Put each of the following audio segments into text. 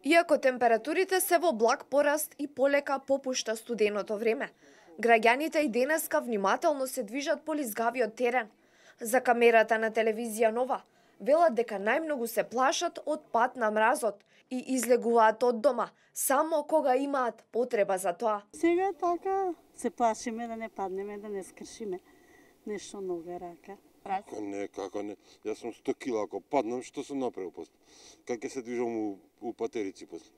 Иако температурите се во благ пораст и полека попушта студеното време, граѓаните и денеска внимателно се движат по лизгавиот терен. За камерата на телевизија Нова велат дека најмногу се плашат од пат на мразот и излегуваат од дома само кога имаат потреба за тоа. Сега така се плашиме да не паднеме, да не скршиме нешто нога рака. Како не. Јас сум 100 кила, ако паднам, што сум направил после? Как ќе се движам у патерици после?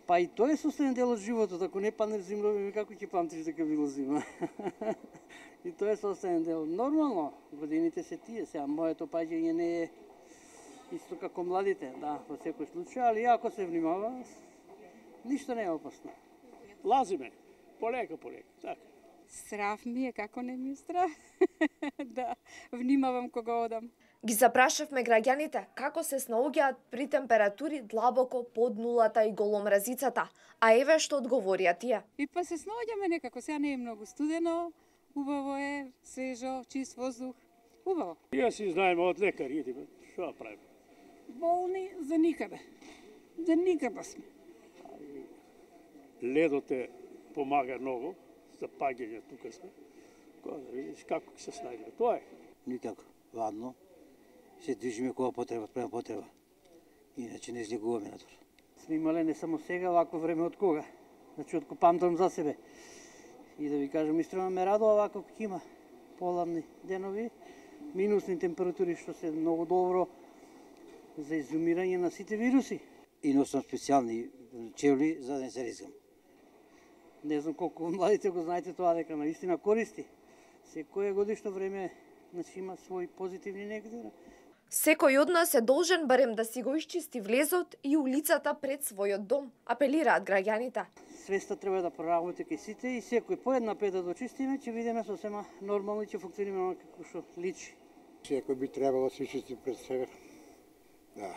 Па и тоа е состојан дел од животот, ако не паднеш зимно, како ќе памтиш дека било зима? И тоа е состојан дел. Нормално, годините се тие, сега моето паѓање не е исто како младите, да, во секој случај, али ако се внимава, ништо не е опасно. Лазиме, полека, така. Страв ми е, како не ми е страв. Да, внимавам кога одам. Ги запрашавме граѓаните како се снаоѓаат при температури длабоко под нулата и голомразицата, а еве што одговорија тие. И па се снаоѓаме некако, сега не е многу студено, убаво е, свежо, чист воздух, убаво. Ја си знаеме од лекари, идеме, што да правиме? Болни за никаде. За никаде сме. Ледот е помага многу за паѓање, тука сме. Кога да видиш како ќе се снајдеме, тоа е. Никако, ладно. Се движиме кога потреба, према потреба. Иначе не излегуваме надвор. Сме имале не само сега, вакво време од кога. Значи, од памтам за себе. И да ви кажам, истина ме радува вако ќе има поладни денови, минусни температури, што се многу добро за изумирање на сите вируси. И носам специјални чевли за да не се ризгам. Не знам колку младите го знаете тоа, дека наистина користи. Секое годишно време, значи, има своји позитивни и негативни. Секој од нас е должен барем да си го исчисти влезот и улицата пред својот дом, апелираат граѓаните. Свеста треба да проработи кај сите и секој по една пета да чистиме, ќе видиме сосема нормално и ќе функционираме како што личи. Секој би требало да се чисти пред себе. Да,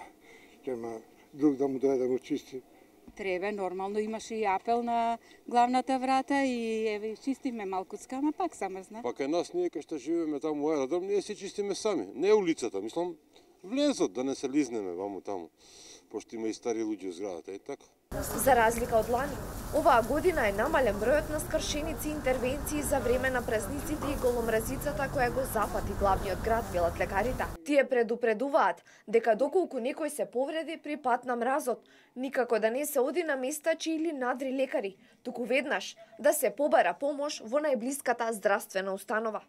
ќе друг да му дојде да му чисти. Треба, нормално имаше и апел на главната врата и еве чистиме малкуцка, ама пак замрзна. Па кај нас ние кај што живееме таму аеродром, ние се чистиме сами, не улицата, мислам, влезот да не се лизнеме ваму таму, пошто има и стари луѓе во зградата, и така. За разлика од лани, оваа година е намален бројот на скршеници и интервенции за време на празниците и голомразицата која го запати главниот град, велат лекарите. Тие предупредуваат дека доколку некој се повреди при пат на мразот, никако да не се оди на места чии надри лекари, туку веднаш да се побара помош во најблиската здравствена установа.